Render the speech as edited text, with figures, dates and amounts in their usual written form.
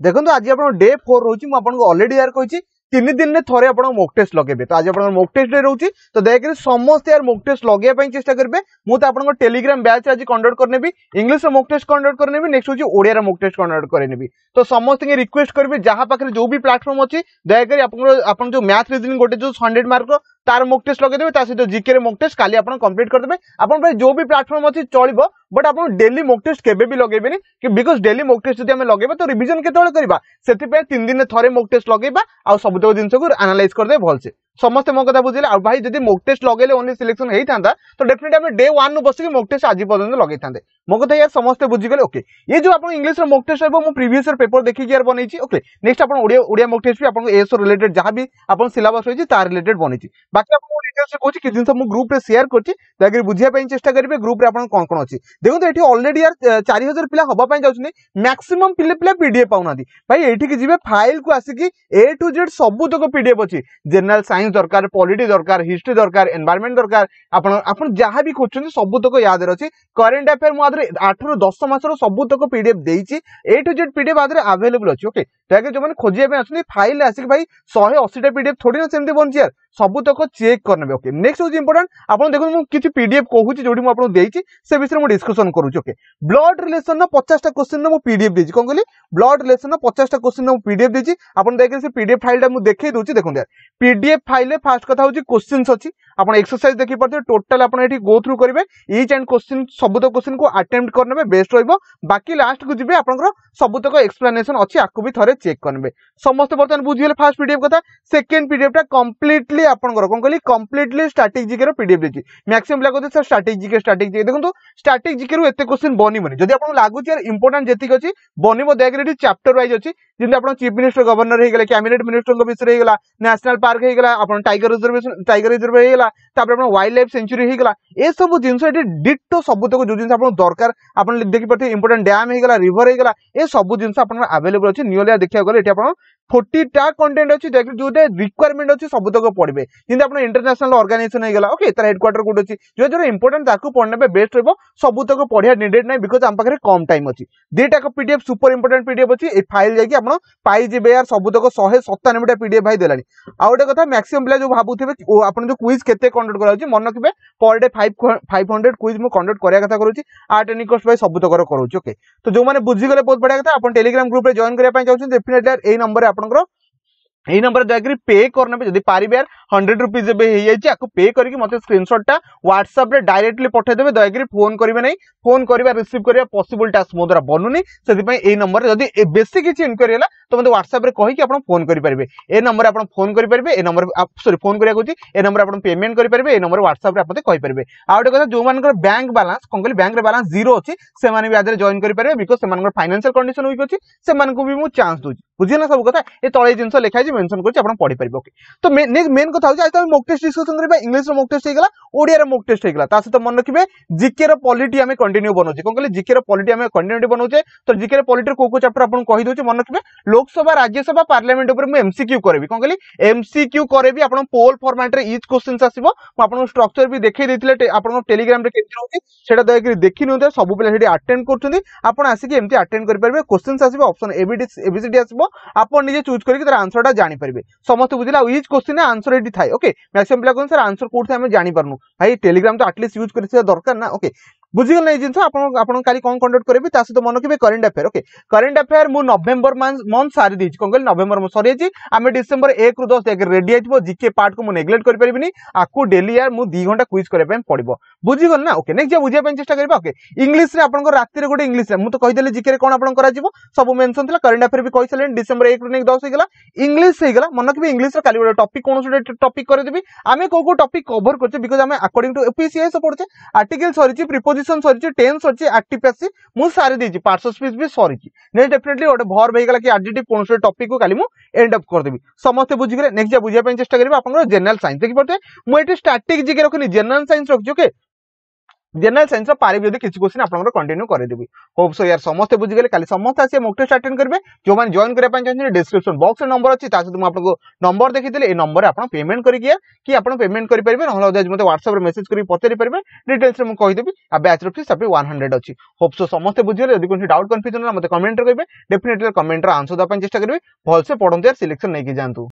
ଦେଖନ୍ତୁ, ଆଜି ଆପଣ ଡେ 4 ରହୁଛି। ମୁଁ ଆପଣଙ୍କୁ ଅଲରେଡି ୟାର କହିଛି, 3 ଦିନରେ ଥରେ ଆପଣ ମୋକ୍ ଟେଷ୍ଟ ଲଗେଇବେ। ତ ଆଜି ଆପଣଙ୍କର ମୋକ୍ ଟେଷ୍ଟ ଡେ ରହୁଛି। ତ ଦୟାକରି ସମସ୍ତେ ୟାର ମୋକ୍ ଟେଷ୍ଟ ଲଗେଇବା ପାଇଁ ଚେଷ୍ଟା କରିବେ। ମୁଁ ତ ଆପଣଙ୍କ ଟେଲିଗ୍ରାମ ବ୍ୟାଚ୍ ଆଜି କଣ୍ଡକ୍ଟ କରିନେବି, ଇଂଲିଶର ମୋକ୍ ଟେଷ୍ଟ କଣ୍ଡକ୍ଟ କରିନେବି, ନେକ୍ସଟ ହେଉଛି ଓଡ଼ିଆର ମୋକ୍ ଟେଷ୍ଟ କଣ୍ଡକ୍ଟ କରିନେବି। ତ ସମସ୍ତଙ୍କୁ ରିକ୍ୱେଷ୍ଟ କରିବି, ଯାହା ପାଖରେ ଯୋଉ ବି ପ୍ଲାଟଫର୍ମ ଅଛି, ଦୟାକରି ଆପଣଙ୍କର ଆପଣ ଯୋଉ ମ୍ୟାଥ ରିଜନିଂ ଗୋଟେ ଯୋଉ 100 ମାର୍କର, ତାର ମୋକ୍ ଟେଷ୍ଟ ଲଗେଇଦେବେ। ତା ସହିତ ଜିକେ ରେ ମୋକ୍ ଟେଷ୍ଟ କାଲି ଆପଣ କମ୍ପ୍ଲିଟ୍ କରିଦେବେ। ଆପଣଙ୍କ ପାଇଁ ଯୋଉ ବି ପ୍ଲାଟଫର୍ମ ଅଛି ଚଳିବ, ବଟ୍ ଆପଣ ଡେଲି ମୋକ୍ ଟେଷ୍ଟ କେବେ ବି ଲଗେଇବେନି କି, because daily mock test ଯଦି ଆମେ ଲଗେଇବା, ତ ରିଭିଜନ କେତେବେଳେ କରିବା? ସେଥିପାଇଁ 3 ଦିନରେ ଥରେ ମୋକ୍ ଟେଷ୍ଟ ଲଗେଇବା ଆଉ ସବୁତକ ଜିନିଷକୁ ଆନାଲାଇଜ କରିଦେବେ ଭଲସେ। ସମସ୍ତେ ମୋ କଥା ବୁଝିଲେ? ଆଉ ଭାଇ, ଯଦି ମୋକ୍ ଟେଷ୍ଟ ଲଗେଇଲେ ଓନ୍ଲି ସିଲେକ୍ସନ ହେଇଥାନ୍ତା, ତ ଡେଫିନେଟଲି ଆମେ ଡେ 1 ରୁ ବସିକି ମୋକ୍ ଟେଷ୍ଟ ଆଜି ପର୍ଯ୍ୟନ୍ତ ଲଗେଇଥାନ୍ତେ। ମୋ କଥା ୟାର ସମସ୍ତେ ବୁଝିଗଲେ? ଓକେ। ଏ ଯୋଉ ଆପଣ ଇଂଲିଶର ମୋକ୍ ଟେଷ୍ଟ ରହିବ, ମୁଁ ପ୍ରିଭିୟସ ପେପର ଦେଖିକି ୟାର ବନେଇଛି। ଓକେ, ନେକ୍ସଟ ଆପଣ ଓଡ଼ିଆ ମୋକ୍ ଟେଷ୍ଟ ବି ଆପଣଙ୍କ ଏଏସଓ ରିଲେଟେଡ୍ ଯାହା ବି ଆପଣ ସିଲାବସ୍ ରହିଛି, ତା ରିଲେଟେଡ୍ ବନେଇଛି। ବାକି ଆପଣଙ୍କୁ ଡିଟେଲ୍ସ କହୁଛି, କିଛି ଜିନିଷ ମୁଁ ଗ୍ରୁପରେ ସେୟାର କରୁଛି, ଦୟାକରି ବୁଝିବା ପାଇଁ ଚେଷ୍ଟା କରିବେ ଗ୍ରୁପରେ ଆପଣ କଣ କଣ ଅଛି। ଦେଖନ୍ତୁ, ଏଠି ଅଲରେଡି ୟାର 4000 ପିଲା ହବା ପାଇଁ ଯାଉଛନ୍ତି। ମ୍ୟାକ୍ସିମମ୍ ପିଲା ପିଡିଏଫ୍ ପାଉନାହାନ୍ତି। ଭାଇ, ଏଇଠିକି ଯିବେ, ଫାଇଲକୁ ଆସିକି ଏ ଟୁ ଜେଡ୍ ସବୁତକ ପିଡିଏଫ୍ ଅଛି। ଜେନେରାଲ ସାଇନ୍ସ ଦରକାର, ପଲିଟି ଦରକାର, ହିଷ୍ଟ୍ରି ଦରକାର, ଏନଭାରମେଣ୍ଟ ଦରକାର, ଆପଣ ଯାହା ବି ଖୋଜୁଛନ୍ତି, ସବୁତକ ୟା ଦେହରେ ଅଛି। କରେଣ୍ଟ ଆଫେୟାର ମୁଁ ଆଦେହରେ 8ରୁ 10 ମାସର ସବୁତକ ପିଡିଏଫ୍ ଦେଇଛି। ଏ ଟୁ ଜେଡ୍ ପିଡିଏଫ୍ ଆଦେହରେ ଆଭେଲେବଲ ଅଛି। ଓକେ, ଦୟାକରି ଯୋଉମାନେ ଖୋଜିବା ପାଇଁ ଅଛନ୍ତି, ଫାଇଲ ଆସିକି ଭାଇ, 180ଟା ପିଡିଏଫ୍ ଥୋଡ଼ି ନା ସେମିତି ବଞ୍ଚି ୟାର, ସବୁତକ ଚେକ୍ କରିନେବେ। ଓକେ, ନେକ୍ସଟ ହେଉଛି ଇମ୍ପୋର୍ଟାଣ୍ଟ, ଆପଣ ଦେଖନ୍ତୁ, ମୁଁ କିଛି ପିଡିଏଫ୍ କହୁଛି, ଯୋଉଠି ମୁଁ ଆପଣଙ୍କୁ ଦେଇଛି, ସେ ବିଷୟରେ ମୁଁ ଡିସ୍କସନ କରୁଛି। ଓକେ, ବ୍ଲଡ ରିଲେସନର 50ଟା କ୍ୱେଶ୍ଚିନ୍ର ମୁଁ ପିଡିଏଫ୍ ଦେଇଛି। କଣ କହିଲି? ବ୍ଲଡ ରିଲେସନର 50ଟା କ୍ୱେଶ୍ଚିନ୍ର ମୁଁ ପିଡିଏଫ୍ ଦେଇଛି। ଆପଣ ଦୟାକରି ସେ ପିଡିଏଫ୍ ଫାଇଲଟା ମୁଁ ଦେଖେଇ ଦଉଛି। ଦେଖନ୍ତୁ, ପିଡିଏଫ୍ ଫାଇଲରେ ଫାର୍ଷ୍ଟ କଥା ହେଉଛି କ୍ୱେଶ୍ଚିନ୍ସ ଅଛି। ଆପଣ ଏକ୍ସରସାଇଜ ଦେଖିପାରୁଥିବେ। ଟୋଟାଲ ଆପଣ ଏଠି ଗୋ ଥ୍ରୁ କରିବେ, ଇଚ୍ ଆଣ୍ଡ କ୍ୱେଶ୍ଚିନ୍, ସବୁତକ କ୍ୱେଶ୍ଚିନ୍କୁ ଆଟେମ୍ପ୍ଟ କରିନେବେ, ବେଷ୍ଟ ରହିବ। ବାକି ଲାଷ୍ଟକୁ ଯିବେ, ଆପଣଙ୍କର ସବୁତକ ଏକ୍ସପ୍ଲାନେସନ ଅଛି, ଆକୁ ବି ଥରେ ଚେକ୍ କରିନେବେ। ସମସ୍ତେ ବର୍ତ୍ତମାନ ବୁଝିଗଲେ ଫାର୍ଷ୍ଟ ପିଡିଏଫ୍ କଥା। ସେକେଣ୍ଡ ପିଡିଏଫ୍ ଟା କମ୍ପ୍ଲିଟଲି ଆପଣଙ୍କର, କଣ କହିଲି, କମ୍ପ୍ଲିଟଲି ଷ୍ଟାଟିକ୍ ଜିକେ ର ପିଡିଏଫ୍ ଦେଇଛି। ମ୍ୟାକ୍ସିମମ୍ ପିଲା କହୁଛନ୍ତି, sir, static GK, static GK. ଦେଖନ୍ତୁ, ଷ୍ଟାଟିକ୍ ଜିକେ ରୁ ଏତେ କ୍ୱେଶ୍ଚିନ୍ ବନିବନି। ଯଦି ଆପଣଙ୍କୁ ଲାଗୁଛି ୟାର ଇମ୍ପୋର୍ଟାଣ୍ଟ ଯେତିକି ଅଛି ବନିବ, ଦୟାକରି ଏଠି ଚାପ୍ଟର ୱାଇଜ ଅଛି। ଯେମିତି ଆପଣ ଚିଫ୍ ମିନିଷ୍ଟର, ଗଭର୍ଣ୍ଣର ହେଇଗଲେ, କ୍ୟାବିନେଟ୍ ମିନିଷ୍ଟରଙ୍କ ବିଷୟରେ ହେଇଗଲା, ନ୍ୟାସନାଲ ପାର୍କ ହେଇଗଲା, ଆପଣ ଟାଇଗର ରିଜର୍ଭେସନ, ଟାଇଗର ରିଜର୍ଭ ହେଇଗଲା, ତାପରେ ଆପଣ ୱାଇଲ୍ଡ ଲାଇଫ ସାଙ୍କଚୁଆରୀ ହେଇଗଲା, ଏସବୁ ଜିନିଷ ଏଠି ଡିଟୋ ସବୁତକ ଯୋଉ ଜିନିଷ ଆପଣଙ୍କୁ ଦରକାର, ଆପଣ ଦେଖିପାରୁଥିବେ। ଇମ୍ପୋର୍ଟାଣ୍ଟ ଡ୍ୟାମ୍ ହେଇଗଲା, ରିଭର ହେଇଗଲା, ଏ ସବୁ ଜିନିଷ ଆପଣଙ୍କର ଆଭେଲେବଲ ଅଛି। ନିୟରଲି ଦେଖିବାକୁ ଗଲେ ଏଠି ଆପଣ 40ଟା କଣ୍ଟେଣ୍ଟ ଅଛି। ଯୋଉଟା ରିକ୍ୱାରମେଣ୍ଟ ଅଛି, ସବୁତକ ପଢିବେ। ଯେମିତି ଆପଣ ଇଣ୍ଟରନ୍ୟାସନାଲ ଅର୍ଗାନାଇଜେସନ ହେଇଗଲା, ଓକେ, ତାର ହେଡକ୍ୱାର୍ଟର କୋଉଠି ଅଛି, ଯୋଉ ଯୋଉଟା ଇମ୍ପୋର୍ଟାଣ୍ଟ ତାକୁ ପଢିନେବେ, ବେଷ୍ଟ ରହିବ। ସବୁତକ ପଢିବା ନିଡେଡ୍ ନାହିଁ, because ଆମ ପାଖରେ କମ ଟାଇମ ଅଛି। ଦିଟାକ ପିଡିଏଫ୍ ସୁପର ଇମ୍ପୋର୍ଟାଣ୍ଟ ପିଡିଏଫ୍ ଅଛି। ଏଇ ଫାଇଲ ଯାଇକି ଆପଣ ପାଇଯିବେ ୟାର ସବୁତକ 197ଟା ପିଡିଏଫ୍ ଭାଇ ଦେଲାଣି। ଆଉ ଗୋଟେ କଥା, ମ୍ୟାକ୍ସିମମ୍ ପିଲା ଯୋଉ ଭାବୁଥିବେ ଆପଣ ଯୋଉ କୁଇଜ କେତେ କଣ୍ଡକ୍ଟ କରାଯାଉଛି, ମନେ ରଖିବେ, ପର ଡେ 500 କୁଇଜ ମୁଁ କଣ୍ଡକ୍ଟ କରିବା କଥା କରୁଛି। ଆଟ୍ ଏନି କଷ୍ଟ ଭାଇ, ସବୁତକର କରୁଛି। ଓକେ, ତ ଯୋଉମାନେ ବୁଝିଗଲେ, ବହୁତ ବଢିଆ କଥା। ଆପଣ ଟେଲିଗ୍ରାମ ଗ୍ରୁପରେ ଜଏନ୍ କରିବା ପାଇଁ ଚାହୁଁଛନ୍ତି, ଡେଫିନେଟଲି ଏଇ ନମ୍ବରରେ, ଆପଣଙ୍କର ଏଇ ନମ୍ବରରେ ଦୟାକରି ପେ କରିନେବେ ଯଦି ପାରିବେ। 100 ରୁପିଜ ଏବେ ହେଇଯାଇଛି। ଆକୁ ପେ କରିକି ମତେ ସ୍କ୍ରିନସଟଟା ହ୍ୱାଟ୍ସଆପରେ ଡାଇରେକ୍ଟଲି ପଠେଇଦେବେ। ଦୟାକରି ଫୋନ୍ କରିବେ ନାହିଁ। ଫୋନ୍ କରିବା, ରିସିଭ୍ କରିବା ପସିବଲ ଟାସ୍କ ମୋ ଦ୍ୱାରା ବନୁନି। ସେଥିପାଇଁ ଏଇ ନମ୍ବରରେ ଯଦି ବେଶୀ କିଛି ଇନକ୍ୱାରି ହେଲା, ତ ମୋତେ ହ୍ୱାଟ୍ସଆପରେ କହିକି ଆପଣ ଫୋନ୍ କରିପାରିବେ। ଏ ନମ୍ବରରେ ଆପଣ ଫୋନ୍ କରିପାରିବେ, ଏ ନମ୍ବର, ସରି, ଫୋନ୍ କରିବାକୁ କହୁଛି, ଏ ନମ୍ବରରେ ଆପଣ ପେମେଣ୍ଟ କରିପାରିବେ, ଏ ନମ୍ବର ହ୍ୱାଟ୍ସଆପରେ ଆପଣ କହିପାରିବେ। ଆଉ ଗୋଟେ କଥା, ଯୋଉମାନଙ୍କର ବ୍ୟାଙ୍କ ବାଲାନ୍ସ, କଣ କହିଲି, ବ୍ୟାଙ୍କରେ ବାଲାନ୍ସ ଜିରୋ ଅଛି, ସେମାନେ ବି ଆଦେହରେ ଜଏନ୍ କରିପାରିବେ, because ସେମାନଙ୍କର ଫାଇନାନ୍ସିଆଲ କଣ୍ଡିସନ ୱିକ୍ ଅଛି, ସେମାନଙ୍କୁ ବି ମୁଁ ଚାନ୍ସ ଦଉଛି। ବୁଝିଲେ ନା ସବୁ କଥା? ଏ ତଳେ ଜିନିଷ ଲେଖା ହେଇଛି, ମେନସନ କରୁଛି, ଆପଣ ପଢିପାରିବେ। ଓକେ, ତ ମେନ୍ କଥା ହଉଛି, ଆଜି ତ ଆମେ ମୋକ୍ ଟେଷ୍ଟ ଡିସ୍କସନ କରିବା। ଇଂଲିଶର ମୋକ୍ ଟେଷ୍ଟ ହେଇଗଲା, ଓଡ଼ିଆର ମୋକ୍ ଟେଷ୍ଟ ହେଇଗଲା। ତା ସହିତ ମନେ ରଖିବେ, ଜିକେ ର ପଲିଟି ଆମେ କଣ୍ଟିନ୍ୟୁ ବନଉଛେ। କଣ କହିଲେ? ଜିକେ ର ପଲିଟି ଆମେ କଣ୍ଟିନ୍ୟୁ ବନଉଛେ। ତ ଜିକେ ର ପଲିଟିର କୋଉ କୋଉ ଚାପ୍ଟର ଆପଣଙ୍କୁ କହିଦଉଛି, ମନେ ରଖିବେ। ଲୋକସଭା, ରାଜ୍ୟସଭା, ପାର୍ଲାମେଣ୍ଟ ଉପରେ ମୁଁ ଏମସିକ୍ୟୁ କରିବି। କଣ କହିଲି? ଏମସିକ୍ୟୁ କରିବି। ଆପଣ ପୋଲ ଫର୍ମାଟରେ ଇଚ୍ କ୍ୱେଶ୍ଚିନ୍ସ ଆସିବ। ମୁଁ ଆପଣଙ୍କୁ ଷ୍ଟ୍ରକ୍ଚର ବି ଦେଖେଇ ଦେଇଥିଲେ ଆପଣଙ୍କ ଟେଲିଗ୍ରାମରେ କେମିତି ରହୁଛି, ସେଟା ଦୟାକରି ଦେଖି ନିଅନ୍ତୁ। ସବୁ ପିଲା ସେଠି ଆଟେଣ୍ଡ କରୁଛନ୍ତି। ଆପଣ ଆସିକି ଏମିତି ଆଟେଣ୍ଡ କରିପାରିବେ। କ୍ୱେଶ୍ଚିନ୍ସ ଆସିବ, ଅପସନ ଏବିଡି ଏବିସିଡି ଆସିବ, ଆପଣ ନିଜେ ଚୁଜ୍ କରିକି ତାର ଆନ୍ସରଟା ଜାଣିପାରିବେ। ସମସ୍ତେ ବୁଝିଲେ? ଆଉ ଇଚ୍ କ୍ୱେଶ୍ଚିନ୍ ଆନ୍ସର ଏଠି ଥାଏ। ଓକେ, ମ୍ୟାକ୍ସିମମ୍ ପିଲା କହୁଛନ୍ତି, ସାର୍, ଆନ୍ସର କୋଉଠି ଆମେ ଜାଣିପାରୁନୁ। ଭାଇ, ଟେଲିଗ୍ରାମ ତ ଆଟଲିଷ୍ଟ ୟୁଜ୍ କରିଥିବା ଦରକାର ନା? ଓକେ, ବୁଝିଗଲେ ଏଇ ଜିନିଷ? ଆପଣ କାଲି କଣ କଣ୍ଡକ୍ଟ କରିବେ, ତା ସହିତ ମନେ ରଖିବେ current affair. Okay, current affair ମୁଁ ନଭେମ୍ବର ମନ୍ଥ ସାରି ଦେଇଛି। କଣ କହିଲି? ନଭେମ୍ବର ସରିଯାଇଛି। ଆମେ ଡିସେମ୍ବର 1ରୁ 10 ଯାକେ ରେଡି ହେଇଥିବ। ଜିକେ ପାର୍ଟକୁ ମୁଁ ନେଗ୍ଲେକ୍ଟ କରିପାରିବିନି। ଆକୁ ଡେଲି ୟାର ମୁଁ 2 ଘଣ୍ଟା କୁଇଜ କରିବା ପାଇଁ ପଡିବ। ବୁଝିଗଲେ ନା? ଓକେ, ନେକ୍ସଟ ବୁଝିବା ପାଇଁ ଚେଷ୍ଟା କରିବା। ଓକେ, ଇଂଲିଶରେ ଆପଣଙ୍କ ରାତିରେ ଗୋଟେ ଇଂଲିଶରେ ମୁଁ ତ କହିଦେଲି, ଜିକେରେ କଣ ଆପଣ କରାଯିବ ସବୁ ମେନସନ ଥିଲା, କରେଣ୍ଟ ଆଫେୟାର ବି କହିସାରିଲେଣି। ଡିସେମ୍ବର 1ରୁ ନେଇକି 10 ହେଇଗଲା, ଇଂଲିଶ ହେଇଗଲା। ମନେ ରଖିବେ, ଇଂଲିଶର କାଲି ଗୋଟେ ଟପିକ, କୌଣସି ଗୋଟେ ଟପିକ କରିଦେବି। ଆମେ କୋଉ କୋଉ ଟପିକ କଭର କରୁଛେ, because ଆମେ ଆକର୍ଡିଂ ଟୁ ୟୁପିଏସସି ପଢୁଛେ। ଆର୍ଟିକଲ ସରିଛି, ପ୍ରିପୋଜିସନ ସରିଛି, ଟେନ୍ସ ସରିଛି, ଆକ୍ଟିଭ ପାସିଭ ମୁଁ ସାରି ଦେଇଛି, ପାର୍ଟସ ଅଫ ସ୍ପିଚ ବି ସରିଛି। ନେକ୍ସଟ ଡେଫିନେଟଲି ଗୋଟେ ଭର୍ବ ହେଇଗଲା କି ଆଡଜେକ୍ଟିଭ, କୌଣସି ଟପିକ କୁ କାଲି ମୁଁ ଏଣ୍ଡ ଅପ୍ କରିଦେବି। ସମସ୍ତେ ବୁଝିଗଲେ? ନେକ୍ସଟ ବୁଝିବା ପାଇଁ ଚେଷ୍ଟା କରିବେ ଆପଣଙ୍କର ଜେନେରାଲ ସାଇନ୍ସ। ଦେଖିପାରୁଥିବେ, ମୁଁ ଏଠି ଷ୍ଟାଟିକ ଜିକେ ରଖିନି, ଜେନେରାଲ ସାଇନ୍ସ ରଖିଛି। ଓକେ। ଜେନେରାଲ ସାଇନ୍ସ ପାରିବି ଯଦି କିଛି କ୍ୱେଶ୍ଚିନ୍ ଆପଣଙ୍କର କଣ୍ଟିନ୍ୟୁ କରିଦେବି। ହୋପ୍ ସୋ ୟାର ସମସ୍ତେ ବୁଝିଗଲେ। କାଲି ସମସ୍ତେ ଆସିବେ, ମକ୍ ଟେଷ୍ଟ ଆଟେଣ୍ଡ କରିବେ। ଯେଉଁମାନେ ଜଏନ୍ କରିବା ପାଇଁ ଚାହୁଁଛନ୍ତି, ଡିସ୍କ୍ରିପ୍ସନ ବକ୍ସରେ ନମ୍ବର ଅଛି। ତା ସହିତ ମୁଁ ଆପଣଙ୍କୁ ନମ୍ବର ଦେଖିଥିଲି, ଏଇ ନମ୍ବରରେ ଆପଣ ପେମେଣ୍ଟ କରିକି କି ଆପଣ ପେମେଣ୍ଟ କରିପାରିବେ, ନହେଲେ ଅଦରୱାଇଜ ମୋତେ ହ୍ୱାଟ୍ସଆପରେ ମେସେଜ କରିକି ପଚାରି ପାରିବେ, ଡିଟେଲ୍ସରେ ମୁଁ କହିଦେବି। ଆଉ ବ୍ୟାଚ୍ର ଫିସ୍ ତାପରେ 100 ଅଛି। ହୋପ୍ ସୋ ସମସ୍ତେ ବୁଝିଗଲେ। ଯଦି କୌଣସି ଡାଉଟ୍ କନଫ୍ୟୁଜନ ହେଲା, ମୋତେ କମେଣ୍ଟରେ କହିବେ, ଡେଫିନେଟଲି କମେଣ୍ଟର ଆନ୍ସର ଦେବା ପାଇଁ ଚେଷ୍ଟା କରିବି। ଭଲସେ ପଢନ୍ତୁ ୟାର, ସିଲେକ୍ସନ ନେଇକି ଯାଆନ୍ତୁ।